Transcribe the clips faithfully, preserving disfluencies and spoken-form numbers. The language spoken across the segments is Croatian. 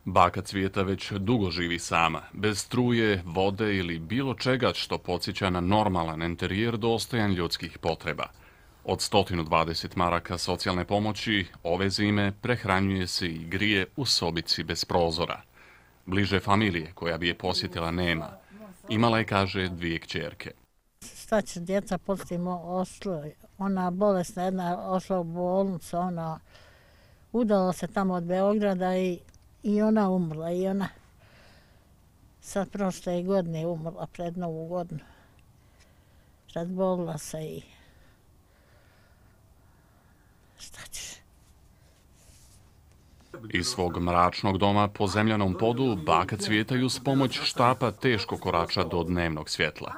Baka Cvijeta već dugo živi sama, bez struje, vode ili bilo čega što podsjeća na normalan enterijer dostojan ljudskih potreba. Od sto dvadeset maraka socijalne pomoći ove zime prehranjuje se i grije u sobici bez prozora. Bliže familije koja bi je posjetila nema. Imala je, kaže, dvije kćerke. Šta će djeca postimo oslo, ona bolesna jedna ošla u bolnicu, ona udala se tamo od Beograda i, i ona umrla. I ona sad prošle godine umrla pred Novu godinu. Razbolila se i šta ćeš? Iz svog mračnog doma po zemljanom podu baka Cvijeta ju uz pomoć štapa teško korača do dnevnog svjetla.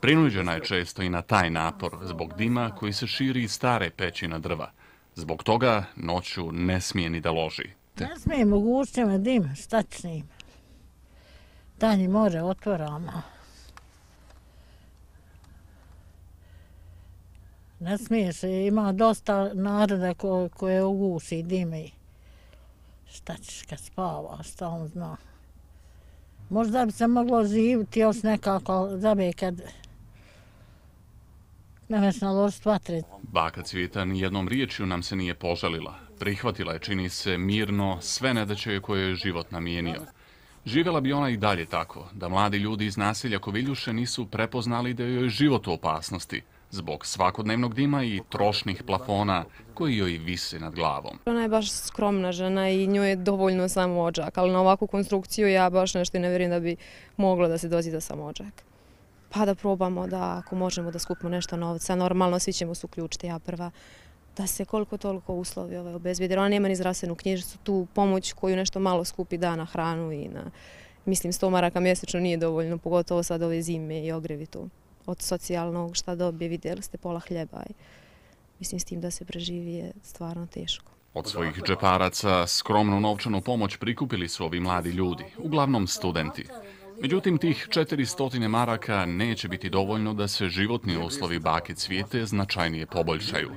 Prinuđena je često i na taj napor zbog dima koji se širi iz stare peći na drva. Zbog toga noću ne smije ni da loži. Ne smije mogućnjama dim, šta će s njim? Danji more otvorama. Ne smiješ, ima dosta naroda ko, koje uguši dime. Šta ćeš kad spava, šta on zna. Možda bi se moglo živjeti još nekako, da bi kad nemeš naložiti vatre. Baka Cvijeta nijednom riječju nam se nije požalila. Prihvatila je, čini se, mirno sve nedaće koje je život namijenio. Živjela bi ona i dalje tako, da mladi ljudi iz naselja Koviljuše nisu prepoznali da joj je život u opasnosti, zbog svakodnevnog dima i trošnih plafona koji joj vise nad glavom. Ona je baš skromna žena i njoj je dovoljno samo odžak, ali na ovakvu konstrukciju ja baš nešto ne vjerujem da bi moglo da se dođe do samo odžak. Pa da probamo da ako možemo da skupimo nešto novca, normalno svi ćemo se uključiti, ja prva, da se koliko toliko uslovi ovaj obezbijede. Ona nema ni zdravstvenu knjižicu, tu pomoć koju nešto malo skupi da na hranu i na, mislim, sto maraka mjesečno nije dovoljno, pogotovo sad ove zime i ogrevi tu. Od socijalnog šta dobije, vidjeli ste pola hljeba i mislim s tim da se preživi je stvarno teško. Od svojih džeparaca skromnu novčanu pomoć prikupili su ovi mladi ljudi, uglavnom studenti. Međutim, tih četiristo maraka neće biti dovoljno da se životni uslovi bake Cvijete značajnije poboljšaju.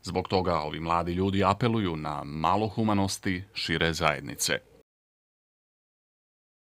Zbog toga ovi mladi ljudi apeluju na malo humanosti šire zajednice.